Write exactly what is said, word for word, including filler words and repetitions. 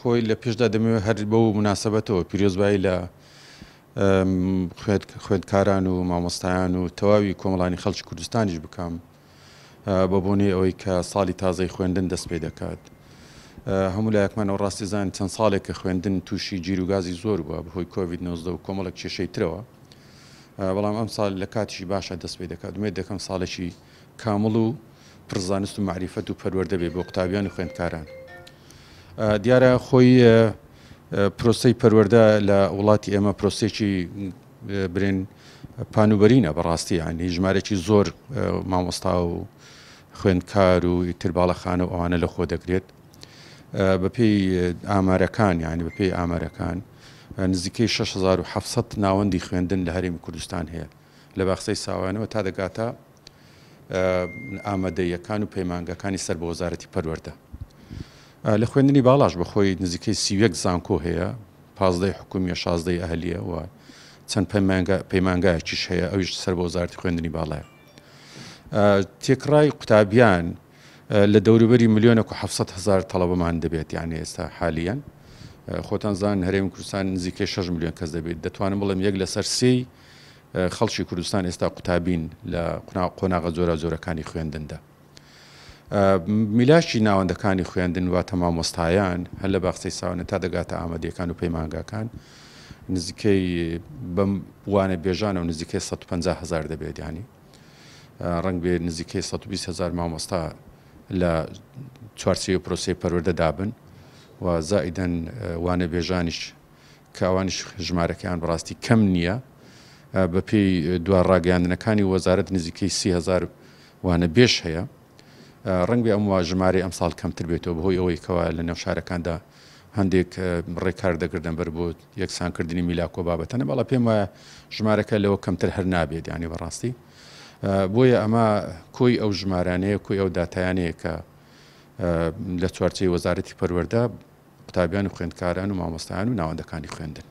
خۆی لە پێشدا دەمەوێت هەر بەو مناسبەتەوە پیرۆزبایی لە خوێندکاران و مامۆستایان و تەواوی کۆمەڵانی خەڵکی کوردستانیش بکەم بە بۆنەی ئەوەی کە ساڵی تازەی خوێندن دەست پێ دەکات. هەموو لایەکمان ئەو ڕاستی زان چەند ساڵێک کە خوێندن تووشی گیروگازی زۆر بووە بەهۆی کۆڤید نۆزدە و کۆمەڵێک کێشەی ترەوە، بەڵام ئەم ساڵ لە کاتیشی باشە دەست پێ دەکات. ئومێد دەکەم ساڵێکی کامڵ و پڕزانست و معریفەت و پەروەردە بێ بۆ قوتابیان و خوێندکاران. دیارە خۆی پرۆسەی پەروەردە لە وڵاتی ئێمە پرۆسێکی برێن پانوبەرینە بەڕاستی، یعنی ژمارەی زۆر مامۆستا و خوێندکار و ئیتر باڵەخانە و ئەوانە لە خۆ دەگرێت. بەپێی ئامارەکان، یعنی بەپێی ئامارەکان نزیکەی شەش هەزار و حەفت سەد ناوەندی خوێندن لە هەرێمی کوردستان هەیە، لە باخچەی ساوانەوە تا دەگاتە ئامادەیەکان و پەیمانگەکانی سەر بە وەزارەتی پەروەردە. لە خوێندنی باڵاش بەخۆی نزیکەی سی و یەک زانکۆ هەیە، پازدەی حکومیە، شازدەی ئەهلیە و چەند پەیمانگایەکیش هەیە، ئەویش سەر بە وەزارەتی خوێندنی باڵایە. تێکڕای قوتابیان لە دەوروبەری ملیۆنێک و حەفت سەد هەزار تەڵەبەمان دەبێت، یعنی ئێستا حالیەن خۆتان زان هەرێمی کوردستان نزیکەی شەش ملیۆن کەس دەبێت. دەتوانم بڵێم یەک لەسەر سێی خەڵکی کوردستان ئێستا قوتابین لە قۆناغە جۆرە جۆرەکانی خوێندندا. میلاشی ناوەندەکانی خوێندن واتە مامۆستایان هەر لە باخچەی ساوانە تا دەگاتە ئامادەیەکان و پەیمانگاکان نزیکەی بەم وانە بێژانەوە نزیکەی سەد و پەنجا هەزار دەبێت، یعنی ڕەنگ بێ نزیکەی سەد و بیست هەزار مامۆستا لە چوارچێوەی پرۆسەی پەروەردە دابن و زائیدەن وانە بێژانیش کە ئەوانیش ژمارەکەیان بەڕاستی کەم نییە. بەپێی دوا ڕاگەیاندنەکانی وەزارەت نزیکەی سی هەزار وانە بێژ هەیە. ڕەنگ بێ ئەم وا ژمارەی ئەم ساڵ کەمتر بێتەوە بەهۆی ئەوەی کەوا لە نێو شارەکاندا هەندێک ڕێکار دەگردن بەر بۆ یەکسانکردنی میلاکۆ بابەتەنە، بەڵام پێم وایە ژمارەکە لەوە کەمتر هەر نابێت، یعنی بەڕاستی. بۆیە ئەمە کۆی ئەو ژمارانەیە، کۆی ئەو داتایانەیە کە لە چوارچێوەی وەزارەتی پەروەردە قوتابیان و خوێندکاران و مامۆستایان و ناوەندەکانی خوێندن.